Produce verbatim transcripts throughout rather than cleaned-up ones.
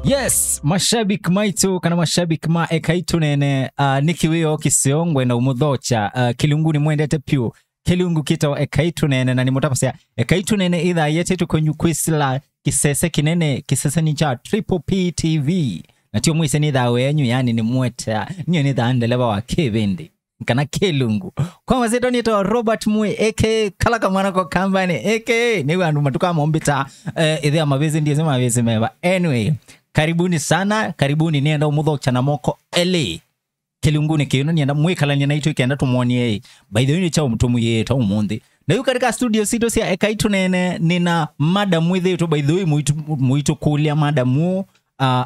Yes, mashabiki maitũ kana mashabiki ma Ekai Tũneene, uh, nĩ kĩwĩoo kĩseo ngwenda ũmũthokya, uh, kĩlungu nĩmwendete pyũ. Kĩlungu kĩtawa Ekai Tũneene na nĩmũtavasya Ekai Tũneene ĩthaa yetĩtwe kwenyu kwĩsĩla kĩsese kĩnene, kĩseseni kya Triple P T V. Na tio mwĩsĩ nĩ thaa wenyu, yani nĩ mweta, niyo nĩ thaa ndeleva wa kĩvĩndĩ kana kĩlungu. Kwa masyĩtwa nĩtawa Robert Mwe, A K A kala kamwana ko kambani, A K A nĩw'o andũ matukaa mombĩta, eh, ĩthĩa mavĩsĩ ndiĩsĩ mavĩsĩ meva. Anyway, karibuni sana, karibuni, nĩenda ũmũthokya na moko elĩ kĩlungunĩ kĩno, nĩenda mwĩkalany'e naitũ ĩkenda tũmwonie, by the way, nĩ kyaũ tũmwĩĩte ũmũnthĩ. Na yu katika studio sitũ sya Ekai Tũneene, nĩna madam wĩthĩĩtwe, by the way, mũitũ-, mũitũkũlya madam ũũ, uh,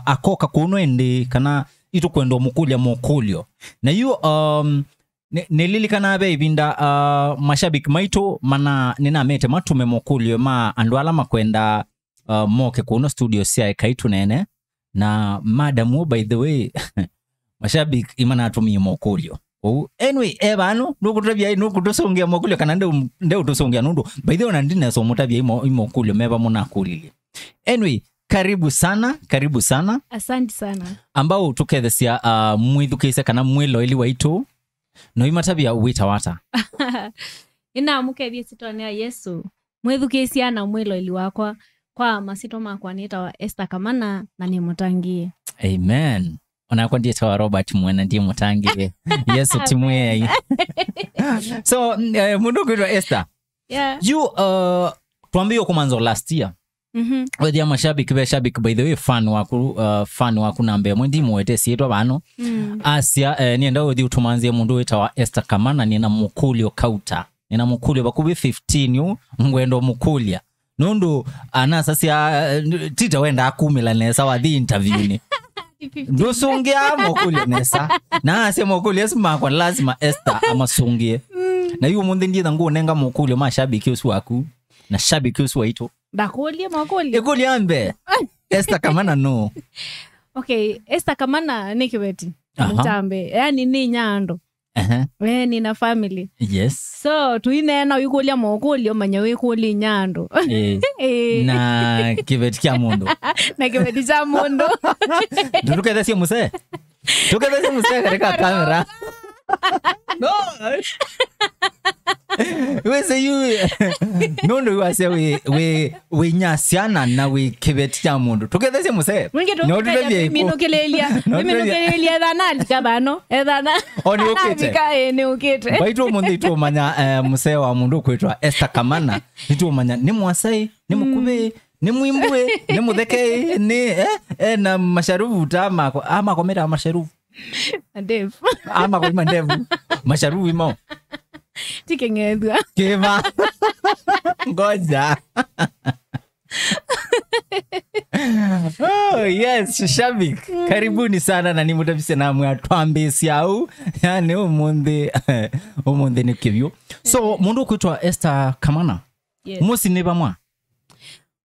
akoka kũno ĩndĩ kana itũkwenda ũmũkũlya mokũlyo. Na yu, um, nĩ-, nĩlilikanaa ve ĩvinda, uh, mashabiki maitũ mana, nĩnamete matume mokũlyo ma andũ ala makwenda, uh, moke kũno studio sya Ekai Tũneene. Na madam ũũ, by the way, mashabiki imanatumie mokũlyo. Ũu, anyway, e vano, nũkũtavya, nũkũtũsũngĩa mokũlyo kana ndeu-, ndeũtũsũngĩa nũndũ, by the way, ona ndinesa ũmũtavya imo-, imokũlyo meva mũnakũlilye. Anyway, karibu sana, karibu sana. Asante sana. Ambao tũkethesya, uh, mwĩthukĩĩsya kana mwĩloeli waitũ, no imatavya wĩtawa ata? Nĩnamũkethya ĩsyĩtwanĩ ya Yesũ. Mwĩthukĩĩsya na mwĩloeli wakwa, kwa masyĩtwa makwa nĩtawa Esther Kamana na nĩ mũtangĩĩe. Amen. Onakwa ndiĩtawa Robert Mwena, ndiĩ mũtangĩĩe. Yesũ ti Mwĩai. So, eh, mũndũ ũkwĩtwa Esther. Yeah. Yu, uh, twambĩĩe kũmanza last year. Mhm. Wethĩa mashabiki, ve shabiki, by the way, fan waku, uh, fan waku namba ĩmwe, ndimũete syĩtwa vano. Mm. Asya, eh, nĩenda ũthi ũtũmanzie mũndũ wĩtawa Esther Kamana, nĩna mũkũlyo kauta. Nĩna mũkũlyo vakuvĩ fifteen yu, ngwenda ũmũkũlya. Nũndũ anasasya, eh, tita wendaa kumĩla nesa wathi interview-nĩ. Ndũsũngĩaa mokũlyo nesa. Na asya mokũlyo asu makwa lazima Esther amasũngĩe. Mm. Na yu ũmũnthĩ ndiĩtha ngũnenga mokũlyo ma shabiki ũsu waku. Na shabiki ũsu waitũ. Ndakũlye makũlyo. Ĩkũlyo ya mbee. Esther Kamana nũ? Okay, Esther Kamana nĩ kĩveti. Aha. Mũtambe. Yani nĩ inya andũ. Ehe. Eh, nĩna family. Yes. So, tũineena ũikũlya mokũlyo, manya wĩkũlya inya andũ. Eh. Eh. Na kĩveti kya mũndũ. Na kĩveti kya mũndũ. Ndũtũkethesye mũsee. Tũkethesye mũsee katika kamera. No. Wĩsĩ yu. Nũndũ yu asya wĩ, wĩ, wĩ inya syana na wĩ kĩveti kya mũndũ. Tũkethesye mũsee. Mwingĩ no tũkethesye tũtethye kũ-, minũkĩlĩlya. No tũtethye. Minũkĩlĩlya ethana alika vano. Ethana. O nĩ ũkĩte. Alika, eh, nĩ ũkĩte. Mbaitũ ũmũnthĩ tũmanya, eh, mũsee wa mũndũ kwĩtwa Esther Kamana. Nĩtũmanya nĩ mwasai, nĩ mũkuvĩ, nĩ mwĩmbũĩ, nĩ mũthekei, nĩ, eh, eh, na masharuvu ta mako, ah, mako meta masharuvu. Mandevu. Ah, mako ni mandevu. Masharuvu imao. Ti kĩng'ethua. Kĩva. Ngoja. Oh, yes, shabik. Karibuni sana na nimũtavise namwe atwambĩsya au. Yani ũmũnthĩ, ũmũnthĩ nĩ kĩvyũ. So, mũndũ ũkwĩtwa Esther Kamana. Yes. Mũsyĩ nĩ vamwa?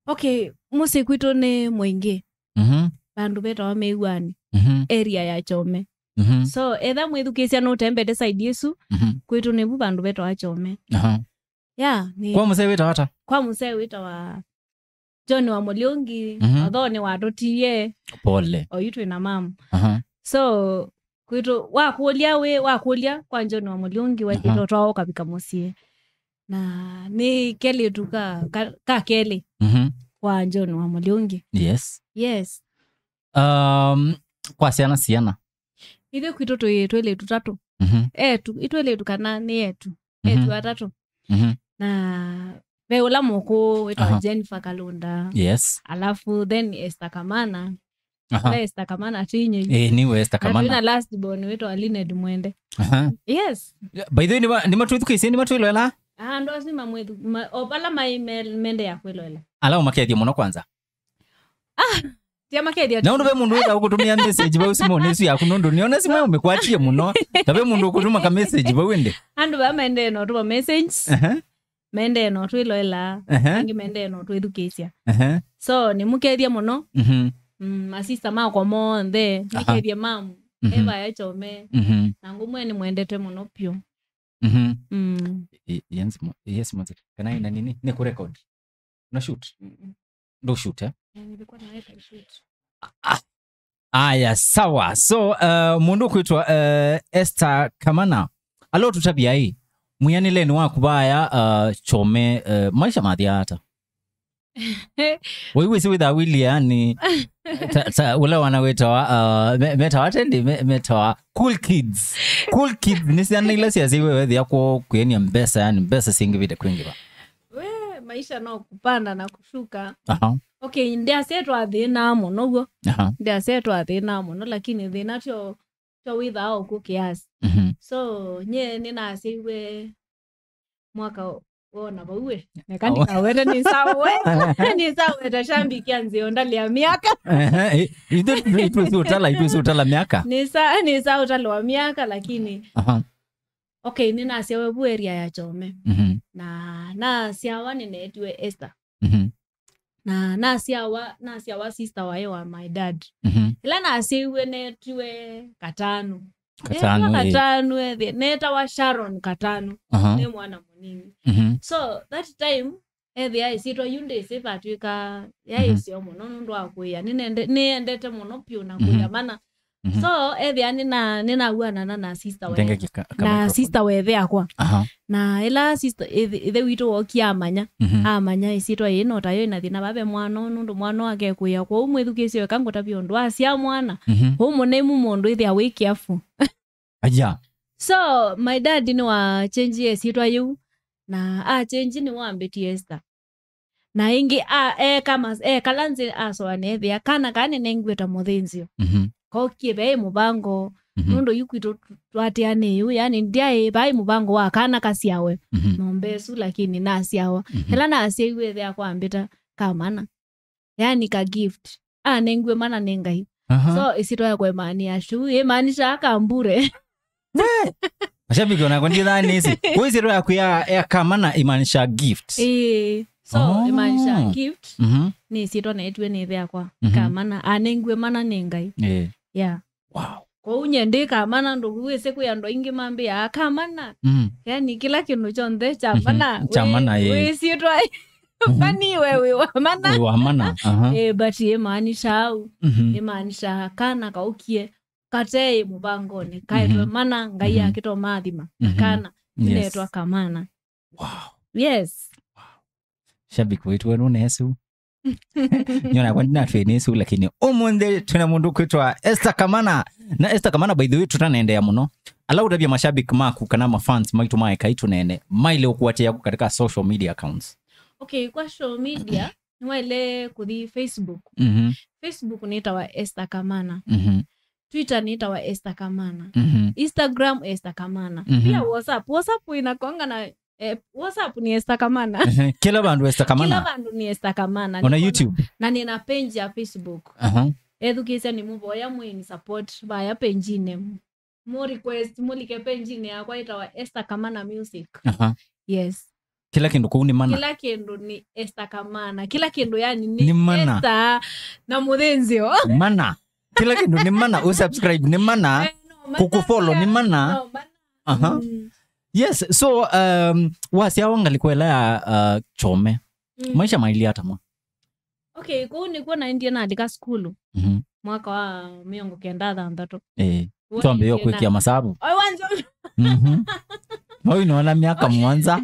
Okay, mũsyĩ kwitũ nĩ Mwingĩ. Mhm. Vandũ vetawa Mĩw'anĩ. Mhm. Area ya Chome. Mhm. So, etha mwĩthukĩĩsya nũtembete side ĩsu, mhm, kwitũ nĩvu vandũ vetawa Chome. Aha. Yeah, nĩ kwa mũsee wĩtawa ata? Kwa mũsee wĩtawa John wa Mũlyũngi, mhm, although nĩwatũtiie. Pole. Oyu twĩ na mamu. Aha. So, kwitũ, wakũlya wĩ, wakũlya kwa John wa Mũlyũngi, aha, wekĩtwe twao ũkavika mũsyĩ. Na nĩ kelĩtu ka, ka, ka kelĩ, mhm, kwa John wa Mũlyũngi. Yes. Yes. Um, kwa syana, syana? Ithyĩ kwitũ twĩ twĩlĩtu tatũ. Mhm. Etu, itwĩlĩtu kana nĩ etu. Mhm. Etu atatũ. Mhm. Na ve ũla mũkũũ wĩtawa, aha, Jennifer Kalunda. Yes. Alafu then Esther Kamana. Aha. Ũla Esther Kamana twĩ inye yu. Eh, nĩwe Esther Kamana. Na twĩ na last born wĩtawa Lynette Mwende. Aha. Yes. By the way, nĩma-, nĩmatwĩthukĩĩsye, nĩmatwĩloela? Ah, andũ asu mamwĩthu-, ma-, o vala maĩ me-, mende ya kwĩloela. Ala ũmakethie mũno kwanza. Ah, tia makethia. Na ũndũ ve mũndũ wĩtha ũkũtũmĩa message vau simũnĩ ĩsu yaku, nũndũ nĩona simũ ĩmĩkwatie mũno. Ta ve mũndũ ũkũtũma ka message vau ĩndĩ. Andũ vaa maendee na ũtũma message. Aha. Maendee na ũtwĩloela. Aha. Angĩ maendee na ũtwĩthukĩĩsya. Aha. So, nĩmũkethie mũno. Mhm. Mm, masista makwa monthe. Aha. Nĩkethie mamu. Mhm. Eva ya Chome. Mhm. Na ngũmwe nĩmwendete mũno pyũ. Mhm. Mm. I-, yes, mo-, yes, mo-, kana ina nini? Nĩ kũ record? Una shoot? Mm-mm. Ndo shoot, eh? Eh, nilikuwa naweka shoot. Ah, Aya, sawa. So, uh, mũndũ ũkwĩtwa, uh, Esther Kamana. Alo tũtavya ĩ, mwĩanĩlenĩ waku vaya, uh, Kyome, uh, maisha mathia ata? Wĩwĩsĩ wĩthaa wĩlĩ yani, ta, ta, ũla wana wĩtawa, uh, me- metawa tendi, me- metawa cool kids. Cool kids nĩ syana ila syasyaĩwe wethĩa kwoo kwĩania mbesa, yani mbesa syĩngĩvĩte kwĩngĩva. We, maisha no kupanda na kushuka. Aha. Okay, ndĩasya twathĩnaa mũno w'o. Aha. Ndĩasya twathĩnaa mũno, lakini thĩna tyo tyo wĩthaa ũkũ kiasi. Mhm. So, nye nĩnasyaiwe mwaka wona vau we. Neka ndikawete nĩsawe. Nĩsaweta shambiki ya nzeo ndali ya miaka. Ehe, itwe itwe si utala, itwe si utala miaka. Nĩsa nĩsa ũtalo wa miaka, lakini Aha. Okay, nĩnasyawe vu area ya Kyome. Mhm. Na nasyawa nĩnetiwe Esther. Mhm. Na nasyawa nasyawa sister waĩ wa my dad. Mhm. Ĩla nasyaiwe netiwe Katanu. Katanu, Netawa eh. Katanu ethi netawa Sharon Katanu. Aha. Nĩ mwana mũnini. Mhm. So that time ethĩa ĩsyĩtwa yu ndĩsĩ vatwĩka yaĩ Mhm. syo mũno nũndũ wa kũĩa. Nĩnende- nĩendete mũno piũ na Mhm. kũĩa mana. Mhm. So ethĩa nĩna nĩnauanana na sister waĩ. Ndenge kika- na kamicrophone. Sister wethe akwa. Aha. Na ĩla sister ĩthe ĩthe witũ wokie amanya. Mhm. Amanya ĩsyĩtwa yĩĩ no tayo ĩna thĩna vave mwana ũũ nũndũ mwana ũũ akekũĩa. Kwoou mwĩthukĩĩsye weka ngũtavya ũndũ asya mwana. Mhm. Ũũ mũnemu mũndũ ĩthĩa wĩ careful. Aja. So my dad nĩwachenjie ĩsyĩtwa yĩu na achenji nĩwambĩtie Esther. Na ĩngĩ a- eka mas- ekala nzĩ asoa neethĩa kana kaa nĩnengiwe ta mũthĩnzĩo. Mhm. Kokie vaĩ mũvango Mhm. nũndũ yu kwitũ tw- twatĩanĩe yu yani ndyaĩ vaĩ mũvango wa kana kasyawe Mhm. ng'ombe ĩsu lakini nasyawa. Mhm. Ĩla nasyaiwe ĩthe akwambĩta kamana. Yani ka gift. Anengiwe mana nĩ Ngai. Aha. So ĩsyĩtwa yakwa ĩmaanĩa shu ĩmaanisha kambure. We! Mashabiki onakwa ndithanĩsĩ. Kwa ĩsyĩtwa yaku ya, ya kamana imaanisha gift. Ĩĩ. So Oh. Ĩmaanisha gift. Mhm. Nĩ ĩsyĩtwa neetiwe nĩ ĩthe yakwa. Mhm. Kamana anengiwe mana nĩ Ngai. Eh. Yeah. Wow. Kwoou nye ndĩ kamana ndũku wĩsĩ kwĩ andũ aingĩ mambĩaa kamana. Mm. Yani kĩla kĩndũ kyonthe kya Mhm. mana. Kya mana, ĩĩ. Wĩsyĩtwa Mhm. Kwani we wĩ wa mana? Wĩ wa mana, aha. Eh, but ĩmaanisha au. Mhm. Ĩmaanisha kana kaũkie kateĩ mũvangonĩ kaetwe Mhm. mana Ngai Mhm. akĩtwa maathima na Mhm. Kana Yes. Inetwa kamana. Wow. Yes. Shabiki witũ wenu nesu. Nyona kwa ndina twĩ nesu lakini ũmũnthĩ twĩna mũndũ kwĩtwa Esther Kamana. Na Esther Kamana, by the way, tũtanaendeea mũno, ala ũtavya mashabiki maku kana mafans maitũ ma Ekai Tũneene maile ũkũatĩĩa katika social media accounts? Okay, kwa social media nĩwaile kũthi Facebook. Mhm. Facebook nĩtawa Esther Kamana. Mhm. Twitter nĩtawa Esther Kamana. Mhm. Instagram Esther Kamana. Mhm. Pia WhatsApp. WhatsApp inakonga na eh, WhatsApp ni Esther Kamana. Ehe, kila vandu Esther Kamana. Kila vandu ni Esther Kamana. Ona YouTube. Na nina page ya Facebook. Aha. Ethukĩĩsya nĩ mũvoya mwĩni support vaya page-inĩ. Mu request mulike page-inĩ yakwa ĩtawa Esther Kamana Music. Aha. Yes. Kila kĩndũ kũu nĩ mana. Kila kĩndũ ni Esther Kamana. Kila kĩndũ yani ni Nĩ mana. Esther na mũthĩnzĩo. Mana. Kila kĩndũ nĩ mana. Usubscribe nĩ mana. Eh, no, mana Kũkũfollow pia. Nĩ mana. No, mana. Aha. Mm. Yes, so um, wasyawa ngalĩko ĩla ya uh, Kyome. Mm. Maisha mailye ata mwa? Okay, kũu nĩkw'o naendie nalika sukulu. Mhm. Mwaka wa mĩongo kenda thanthatũ. Eh. Twambĩĩe kwĩkĩa masavu. Oi wanjo. Mhm. Oi nona miaka mũonza.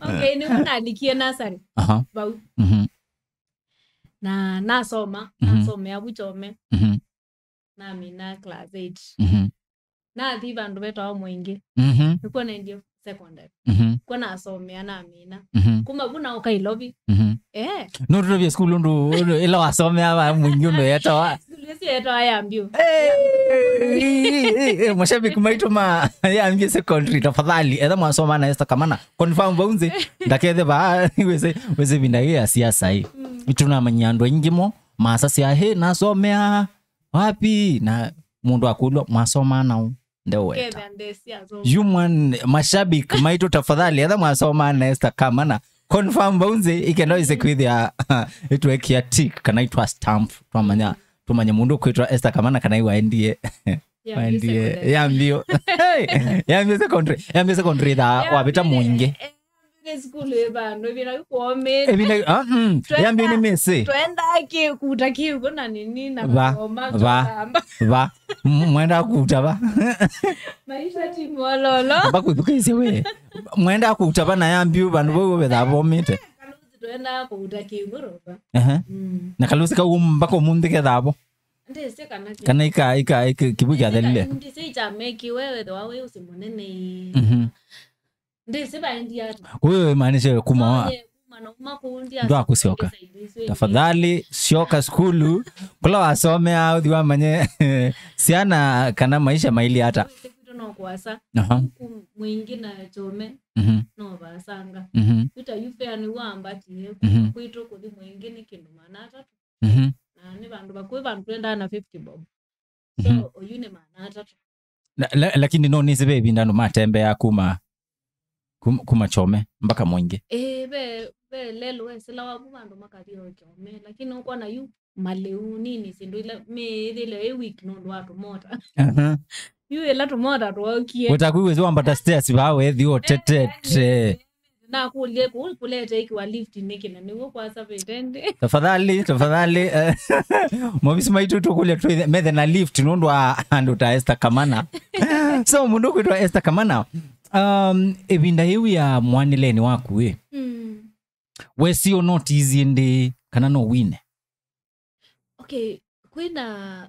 Okay, nĩkw'o nalikie nursery. Aha. Vau. Mhm. Na nasoma, Mhm. Nasomea vu Kyome. Mhm. Namina class eight. Mhm. Nathi vandũ vetawa Mwingi. Mhm. Nĩkw'o naendie secondary. Mhm. Kw'o nasomea namina. Mhm. Kuma vu naũka Ilovi. Mhm. Eh. No tũtavye sukulu ũndũ, ũndũ ĩla wasomea va Mwingi ũndũ yetawa. Sukulu ĩsu yetawa Yambio. Eh, eh, eh, eh, mashabiki maitũ ma Yambio Secondary, tafadhali, etha mwasoma na Esther Kamana, confirm vau nzĩ, ndakethe va, wĩsĩ, wĩsĩ vinda hii ya siasa hii. Mm. Tunamanyia andũ aingĩ mo, masasya, "Hey, nasomea wapi?" Na mũndũ akũlwa, "Mwasoma naũ?" Ndewe. Kevya ndesi azo. Human mashabiki maitũ, tafadhali, etha mwasoma na Esther Kamana, confirm vau nzĩ, ikenda ise kwĩthĩa, itwekia tick, kana itwa stamp, twamanya, tumanye mũndũ kwĩtwa Esther Kamana, kana iwaendie. Yambio Waendie, secondary. Yambio. Hey, Yambio secondary. Yambio secondary tha Yambio wavita Mwingi. Eh, Nĩ sukulu ĩ vandũ, ĩvinda yu kwomĩte. Ĩvinda, ah, mm, yambio nĩ mĩsĩ. Twendaa kĩ, kuta kĩw'ũ na nini na va, makoma va, tũkamba. Va. M-, mwenda kuta va. Maisha ti mololo. Mba kwĩthukĩĩsya we. Mwenda kuta va na yambio vandũ vau vethaa vomĩte. Kalũsi twendaa kuta kĩw'ũ roba. Aha. Mm. Na kalũsi kau mpaka ũmũnthĩ kethaa vo. Ndĩsĩ kana kĩ- Kana ika, ika, ika, kĩw'ũ kyathelile. Ndĩsĩ kya mekiwe wethĩwa wĩ ũsĩ mũnene ĩ. Mhm. Ndĩsĩ vaendie ata. Kwa hiyo imaanisha kuma wa- Oye, kuma na uma kũu ndia- Ndwa kũsyoka. Tafadhali, syoka sukulu. Kũla wasomea, ũthi wamanye syana kana maisha maili ata. Kwitũ no kũasa. Aha. Ku Mwingi na Kyome, mhm, no vasanga. Mhm. Kuta yu fare nĩ wambatie, mhm, kwitũ kũthi Mwingi nĩ kĩndũ maana atatũ. Mhm. Na nĩ vandũ vakũĩ vandũ twendaa na fifty bob. So, mhm, oyu nĩ maana atatũ. La-, la-, lakini no nĩsĩ ve ĩvinda andũ matembea kuma, kuma, kuma Kyome mpaka Mwingi. Ĩĩ, ve, ve lelũ wesĩla wavu vandũ makathi o Kyome, lakini ũkwona yu malĩu nini syĩndũ ila mĩĩthĩle ĩ weak nũndũ wa tũmota. Aha. Yu ĩla tũmota twokie. Wĩtakwĩw'ĩsĩ wambata stairs vaa wethi ũtetete. Nakũlye kũu kũlete ikiwa lift nĩkĩ na nĩw'o kwasavĩte ndĩ. Tafadhali, tafadhali, eh, mavisi maitũ tũkũlya twĩthe-, methe na lift nũndũ wa andũ ta Esther Kamana. So, mũndũ kwĩtwa Esther Kamana, um, ĩvinda yĩu ya mwanĩlenĩ waku ĩ, mm, wesi ũnotisie ndĩ kana no wine? Okay, kwĩna,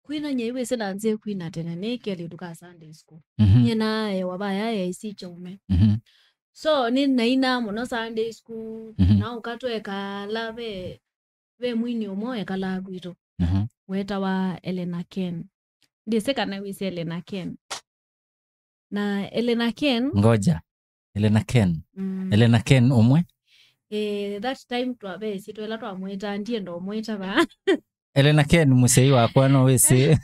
kwĩna nyie wĩsĩ na nzĩ kwina tene nĩ kelĩtu ka Sunday school. Mhm. Nyie naaewa vaya A I C Kyome. Mhm. So, nĩ naina mũno Sunday school, mhm, na ũkatwekala ve, ve mwini ũmwe ekalaa kwitũ. Mhm. Wetawa Elena Ken. Ndĩsĩ kana wĩsĩ Elena Ken. Na Elena Ken. Ngoja. Elena Ken. Mm. Elena Ken ũmwe? Eh, that time twavesi twela twamwĩta, ndienda ũmwĩta va. Elena Ken, mũsyai wakwa, no wĩsĩ.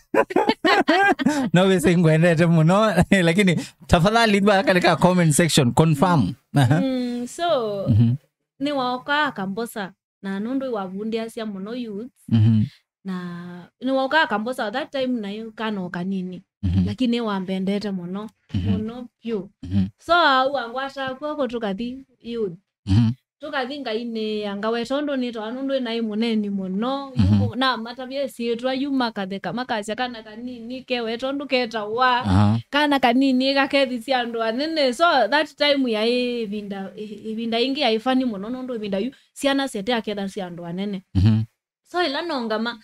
No wĩsĩ ngwendete mũno, lakini tafadhali va kale ka comment section, confirm. Aha. Mm, so, mhm, nĩwaokaa akambosa. Na nũndũ wavundĩasya mũno youth, mhm, na nĩwaũkaa akambosa that time naĩ kana o kanini, mhm, lakini wambendete mũno, mhm, mũno vyũ. Mhm. So au angwataa kw'oko tũkathi youth. Mhm. Tũkathi ngainĩĩa ngaweta ũndũ nĩtawa nũndũ naĩ mũneni mũno. Mhm. Yu na matavya ĩsyĩtwa yu makatheka makasya kana kanini kewe tondũ ketawa. Aha. Kana kanini kakethĩsya andũ anene. So that time yaĩ ĩvinda, ĩ-, ĩvinda ĩngĩ yaĩ funny mũno nũndũ ĩvinda yu syana syete akethasya andũ anene. Mhm. So ĩla nongama,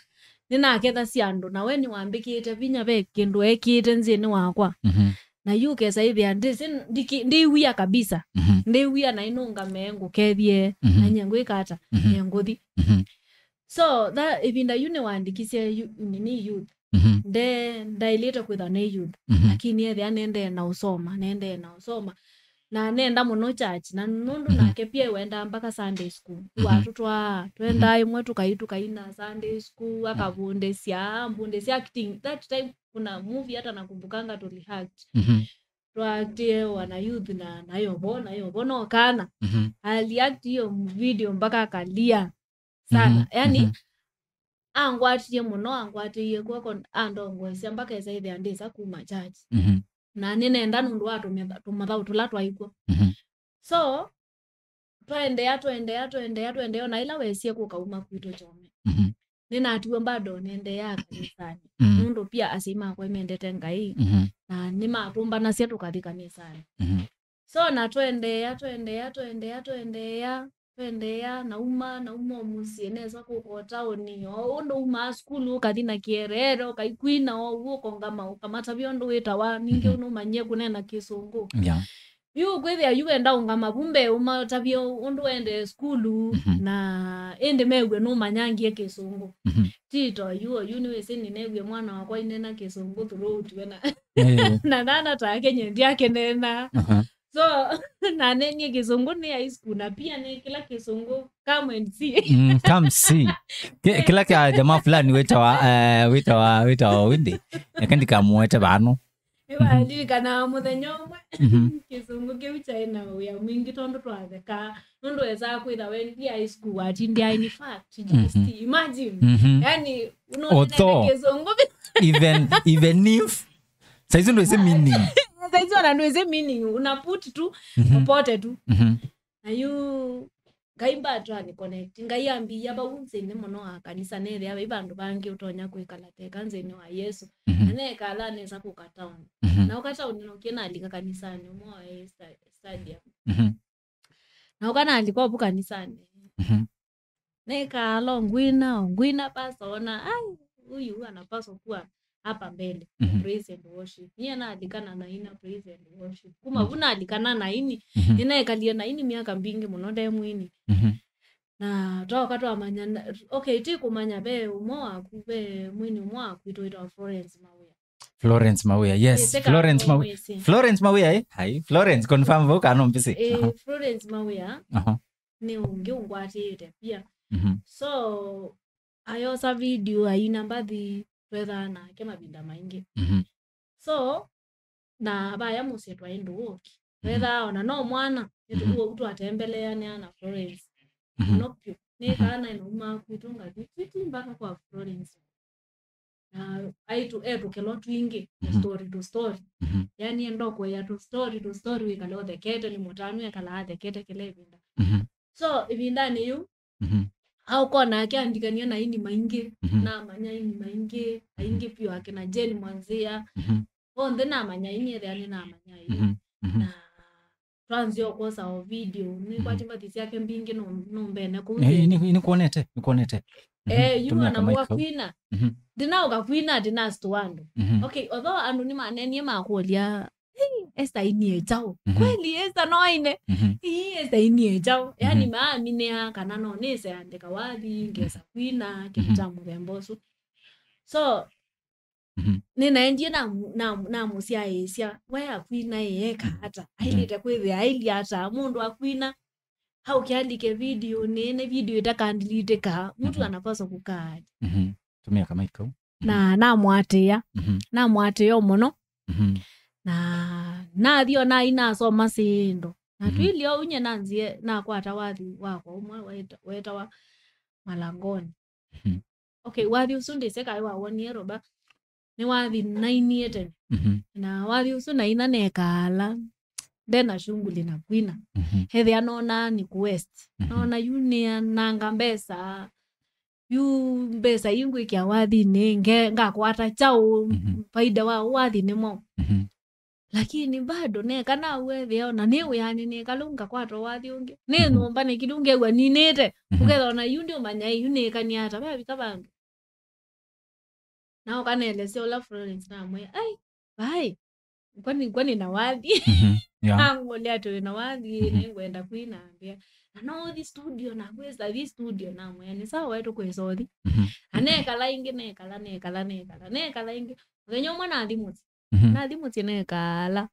nĩnakethasya andũ, na we nĩwambĩkĩte vinya, ve kĩndũ ekĩte nzĩnĩ wakwa. Mhm. Na yu ũkesa ĩthĩa ndĩsĩ, ndiki-, ndĩwia kabisa. Mhm. Ndĩwia na inũngame ngũkethye, mhm, na nyie ngwĩka ata, mhm, nyie ngũthi. Mhm. So, tha, ĩvinda yu nĩwandĩkisye yu-, nini youth. Mhm. Nde-, ndaĩlĩte kwĩthwa nĩ youth, mhm, lakini ethĩa nendee na ũsoma, nendee na ũsoma. Na nenda mũno church, na nũndũ, mhm, nake pia wendaa mpaka Sunday school. Mhm. Watũtwaa, twendaa, mhm, ĩmwe tũkai, tũkaina Sunday school, mhm, akavundĩsya, ambundĩsya acting. That time kuna movie hata nakumbukanga tũli act. Mhm. Twaaktie wana youth na, na yovo, na yovo no kana. Mhm. Ali act hiyo video mpaka akalia sana. Mhm, yani, mhm. Angwatie mũno, angwatĩie kw'oko, andongoesya mpaka esa ĩthĩa ndĩsa kuma church. Mhm. Na nĩnenda nũndũ wa tũmĩtha-, tũmathaũ tũla twaĩ kw'o. Mhm. So, twaendeea, twaendeea, twaendeea, twaendeea, na ĩla wesie kũka uma kwitũ Kyome. Mhm. Nĩnatiwe bado nĩendeea kanisanĩ. Mhm. Nũndũ pia asyai makwa mendete Ngai, mhm, na nĩmatũmbanasya tũkathi kanisanĩ. Mhm. So, na twendeea, twendeea, twendeea, twendeea, twendeea, nauma, nauma o mũsyĩ, nesa kũka o taoni, o ũndũ umaa sukulu, ũkathi na kĩereere, ũkaikwina o ũu, ũkongama, ũkamatavya ũndũ wĩtawa, ningĩ, mhm, nũmanyie kũneena Kĩsũngũ. Yeah. Yu kwĩthĩa yu wenda ũngama vu mbee, ũmatavye ũndũ wendee sukulu, mhm, na ĩndĩ mew'e nũmanyangie Kĩsũngũ. Mhm. Tito, yu, yu nĩwĩsĩ nĩneew'e mwana wakwa aineena Kĩsũngũ throughout we na, eh, na nana take nye ndiakĩneena. Aha. So, naneenie Kĩsũngũ nĩ high school, na pia nĩ kĩla Kĩsũngũ, come and see. Mm, come see. Ki-, kĩla kya jamaa fulani wĩtawa, eh, wĩtawa, wĩtawa Windi. Eka ndikamũete vano. Nĩwandirikana mũthenya ũmwe, mhm, Kĩsũngũ kĩu kyaĩ na wĩa mwingĩ tondũ twathekaa. Nũndũ wesaa kwĩtha wendi high school watindĩa, in fact, G S T. Mhm. Imagine. Mhm. Yani, although, Kĩsũngũ even, even if, saizi ndwĩsĩ meaning. Saizi ona ndwĩsĩ meaning, una put tu, mhm, popote tu. Mhm. Na yu Ngai mbatwa ni connect. Ngai ambĩĩa vau nthĩnĩ mũno wa kanisa, nethĩa vai vandũ vangĩ ũtonya kwĩkala teka nthĩnĩ wa Yesũ. Mhm. Na nekala nesa kũka town. Mhm. Na ũka town no kĩnalika kanisanĩ ũmwe wa sta-, stadium. Mhm. Na ũka nalika ũvu kanisanĩ. Mhm. Nekaala ngwina, ngwina pastor ona, ai, huyu anapaswa kuwa hapa mbele. Mhm. Praise and worship. Niye nalika na naina praise and worship. Kuma, mhm, vu nalika na naini. Mhm. Nĩnaekalie naini myaka mbingĩ mũno nde mwini. Mhm. Na twaoka twamanya na, okay, ti kũmanya ve ũmwe waku, ve mwini ũmwe waku witũ wĩtawa Florence Mawĩa. Florence Mawĩa, yes. Ĩsĩ kana Florence Mawĩa. Mwĩsĩ. Florence Mawĩa, eh? Hai, Florence, confirm vau kana mbisi. Eh, aha. Florence Mawĩa. Aha. Nĩ ũngĩ ũngwatĩĩte pia. Mhm. So, ayosa video, aina mbathi, twethaa nake mavinda maingĩ. Mhm. So, na vaya mũsyĩ twaĩ ndũũki. Mhm. Twethaa ona no mwana, mhm, nĩtũkuo twatembeleanĩa na Florence. Mhm. Mũno vyũ. Nĩ, mhm, kana naumaa kwitũ ngathi, twĩti mpaka kwa Florence. Na aitũ etũkĩlwa twingĩ, mhm, story to story. Mhm. Yani enda kũea to story to story, wĩkale ũthekete, nĩ mũtanu ekala athekete kĩla ĩvinda. Mhm. So, ĩvindanĩ yĩu, mhm, aũkona akeandĩkania na aini maingĩ, mhm, namanya aini maingĩ, mhm, aingĩ vyũ akina Jane Mwanzia. Mhm. Onthe namanya aini, ethĩa nĩnamanya aini. Mhm. Mhm. Na twanzia ũkwosa o video, nĩkwati, mhm, mbathi syake mbingĩ no, no mbene kũu. Eh, nĩ, nĩkwonete, nĩkwonete. Mhm. Eh, yu tumia ona kamaika. Wakwina. Mhm. Ndinaũka kwina, ndinastua andũ. Mhm. Okay, although andũ nĩmanenie makũlya, "Hey, Esther ainie kyaũ?" Mhm. Kweli Esther no aine? Mhm. Ii, Esther ainie kyaũ? Yani, mhm, maaminĩa kana no nĩse andĩka wathi, ngesa, mhm, kwina, kĩndũ, mhm, kya mũthemba ũsu. So, mhm, nĩnaendie na, na, namũsyaĩĩsya, "We akwina ĩ, eka, mhm, ata? Mhm. Ailĩte kwĩthĩa ailye ata? Mũndũ akwina, aũke alike video nene, video itakandilitĩka, mtu, mhm, anapaswa kukaa aje?" Mhm. Tumia kamaika kau. Mhm. Na namwatĩĩa, mhm, namwatĩĩa mũno. Mhm. Na nathi o nainasoma syĩndũ. Na, mhm, twĩlĩ o unye nanzie nakwata wathi wakwa ũmwe weta-, wetawa Malangoni. Mhm. Okay, wathi ũsu ndĩsĩ kaĩ wawonie Roba. Nĩ wathi nainie tene. Mhm. Na wathi ũsu naina nekaala ndena shughuli na kwina. Mhm. Ethĩa nona nĩ ku waste. Mhm. Nona yu nĩananga mbesa. Yu mbesa ii ngwĩkĩa wathinĩ, nge-, ngakwata kyaũ? Mhm. Faida wa wathi nĩ mwaũ? Mhm. Lakini bado neka naw'o ethĩa ona nĩ wĩanĩ nĩkalũ ngakwata wathi ũngĩ. Nĩ, mhm, nyũmba nĩ kĩndũ ngew'a ninĩte. Mhm. Ũkethĩa ona yu ndiũmanya yu nĩkanie ata, vavika vandũ. Na ũkaneelesya ũla Florence namwĩa, "Ai, vai, kwani, kwani na wathi?" Mhm. Yeah. Angũlya atĩ wĩ na wathi, mhm, nĩngwenda kwina ambĩa. Na no ũthi studio, na kwĩsa thi studio, namwĩa, "Nĩ sawa, we tũkwĩsa ũthi." Mhm. Na nekala ĩngĩ, nekala, nekala, nekala, nekala ĩngĩ. Mũthenya ũmwe nathi mũsyĩ. Mhm. Nathi mũsyĩ nekala.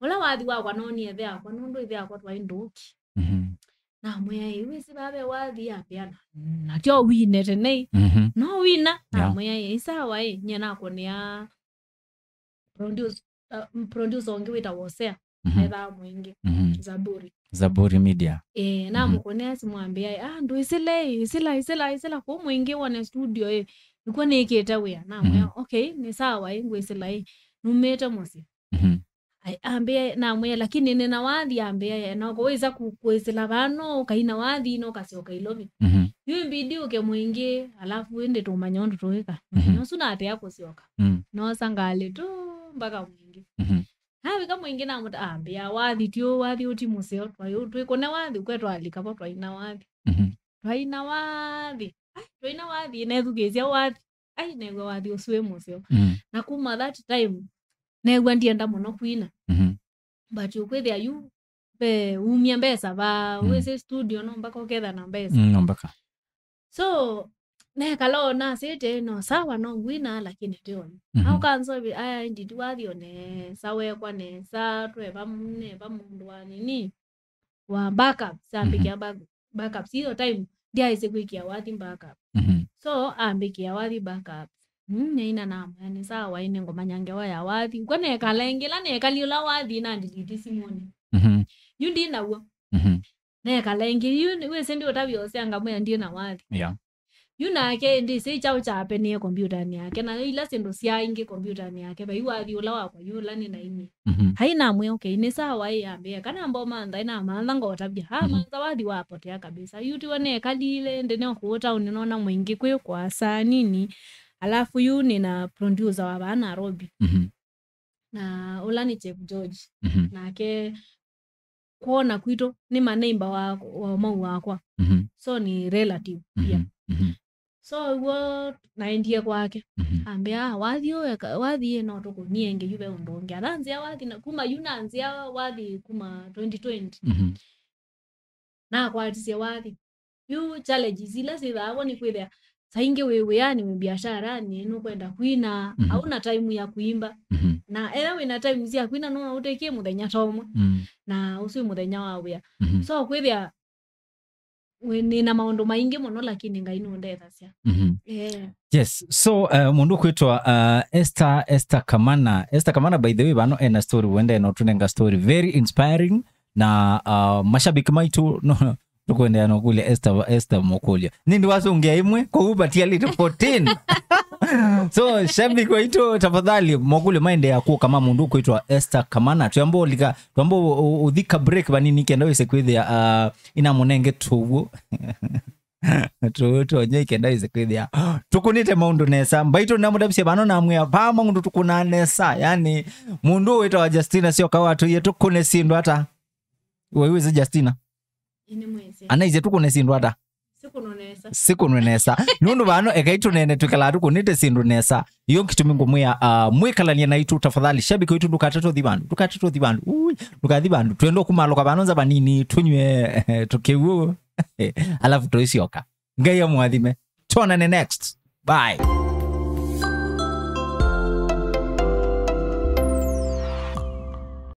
Ũla wathi wakwa noonie ĩthe wakwa, nũndũ ĩthe wakwa twaĩ ndũũki. Mhm. Namwĩa, "Ĩ, wĩsĩ vaa ve wathi?" Ambĩa, "Na, na tyo wine tene ĩ." Mhm. No wina? Yeah. Namwĩa, "Ĩ, sawa ĩ, nyie nakũnĩa produce, uh, producer ũngĩ wĩtawa Hosea." Mhm. Ethaa Mwingi. Mhm. Zaburi. Zaburi Media. Eh, mhm, namũkũnĩa simũ ambĩa, "Ah, ndwĩsĩle ĩ, ĩsĩla, ĩsĩla, ĩsĩla kũu Mwingi wone studio ĩ. Nĩkw'o nĩkĩte wĩa." Namwĩa, mhm, "Okay, nĩ sawa ĩ, ngwĩsĩla ĩ. Numĩte mũsyĩ." Mhm. Ai, ambĩa, namwĩa, "Lakini nĩna wathi," ambĩa, "na ũkawĩsa ku-, kwĩsĩla vano, ũkaina wathi, na ũkasyoka Ilovi." Mhm. Yu imbidi ũke Mwingi, alafu ĩndĩ tũmanya ũndũ tũĩka. Mhm. Mũthenya ũsu natea kũsyoka. Mm. Noosa ngalĩ tu mpaka Mwingi. Mhm. Navika Mwingi namũta, ambĩa, "Wathi ti ũũ, wathi ũti mũseo, twai-, twĩkũne wathi, ũkwe twalika vo twaina wathi." Mhm. Twaina wathi. Ai, twaina wathi, nethukĩĩsya wathi. Ai, neew'a wathi ũsu wĩ mũseo. Mm. Na kuma that time, neew'a ndienda mũno kwina. Mhm. But ũkwĩthĩa yu, ve umya mbesa va, mm, wĩsĩ studio no mpaka ũketha na mbesa. Mm, no mpaka. So, nekala o nasĩte, no sawa, no ngwina, lakini ti oyu. Mhm. Au kanzo, aya, nditi wathi o nesa, wekwa nesa, tweva m-, neva mũndũ wa nini. Wa backups, ambĩkĩa, mhm, back-, backups. Hiyo time, ndyaĩsĩ kwĩkĩa wathi backup. Mhm. So, ambĩkĩa wathi backups. Mm, nĩina namwĩa, "Nĩ sawa, ĩnĩ ngũmanya ngewa ya wathi." Kwa nekala ĩngĩ, ĩla nekali ũla wathi, na ndelete simũnĩ. Mhm. Yu ndi naw'o. Mhm. Nekala ĩngĩ, yu nĩ-, wĩsĩ ndi ũtavya ũsea ngamwĩa ndi na wathi. Yeah. Yu nake ndĩsĩ kyaũ kyapenie kombyũtanĩ yake, na ila syĩndũ sya ingĩ kombyũtanĩ yake, vai wathi ũla wakwa yu ũla nĩ na inyie. Mhm. Hai namwĩa, "Okay, nĩ sawa ĩ," ambĩa, kana mbomantha, ĩnamantha ngotavya. Ha, mhm, mantha wathi wapotea kabisa. Yu tiwe nekalile, ndĩ no kũũ taũni nona mũingĩ kwĩ kwa saa nini. Alafu yu nĩ na producer wa vaa Nairobi. Mhm. Na ũla nĩ Chef George. Mhm. Nake kwona kwitũ nĩ ma neighbor wa, wa mau wakwa. Mhm. So nĩ relative pia. Mhm. Mhm. So ũguo naendie kwake. Mhm. Ambĩa, "Ah, wathi ũyũ eka-, wathi ĩ no tũkũnie ĩngĩ yu ve ũndũ ũngĩ." Athanzĩa wathi na, kuma yu nanzĩa wathi kuma twenty twenty. Mhm. Nakwatisye wathi. Yu challenges ila syĩthaa vo nĩ kwĩthĩa saa ingĩ wĩ wĩanĩ, wĩ biasharanĩ, nũkwenda kwina, mhm, hauna time ya kuimba. Mhm. Na ethĩwa wĩna time sya kwina, no ũtĩkie mũthenya ta ũmwe. Mm. Na ũsu wĩ mũthenya wa wĩa. Mhm. So kwĩthĩa wĩ, nĩ na maũndũ maingĩ mũno, lakini Ngai nũndethasya. Mhm. Yeah. Yes. So, uh, mũndũ kwĩtwa, uh, Esther, Esther Kamana. Esther Kamana, by the way, vano ena story, wende no tunenga story. Very inspiring. Na, uh, mashabiki maitũ, no, tũkwendeea no kũlya Esther, Esther mokũlyo. Nĩndĩ wasũngĩa ĩmwe, kwoou vatialĩte fourteen. So, shabiki waitũ, tafadhali, mokũlyo maendeea kũka ma mũndũ kwĩtwa Esther Kamana. Twamba ũlika, twamba ũ-, ũ-, ũthika break vanini kenda wĩse kwĩthĩa, uh, inamũnenge tũw'o. Tũw'o tũnye kenda wĩse kwĩthĩa. Tũkũnĩte maũndũ nesa. Mbaitũ namũtavisye vano namwĩa, vaa maũndũ tũkũnaa nesa. Yani, mũndũ wĩtawa Justina Syoka watũie tũkũne syĩndũ ata. Waiwĩsĩ Justina? Ĩĩ nĩmwĩsĩ. Anaisye tũkũne syĩndũ ata? Sikũnwe nesa. Sikũnwe nesa. Nũndũ vano ekai tũnene twĩkalaa tũkũnĩte syĩndũ nesa. Iyo kĩtumi ngũmwĩa, uh, mwĩkalanie naitũ tafadhali. Shabiki waitũ ndũkatate ũthi vandũ. Ndũkatate ũthi vandũ. Ui, ndũkathi vandũ. Twenda kũmalũka vano nza vanini, tũnywe, tũkĩw'ũ. Alafu tũisyoka. Ngai amwathime. Tuonane next. Bye.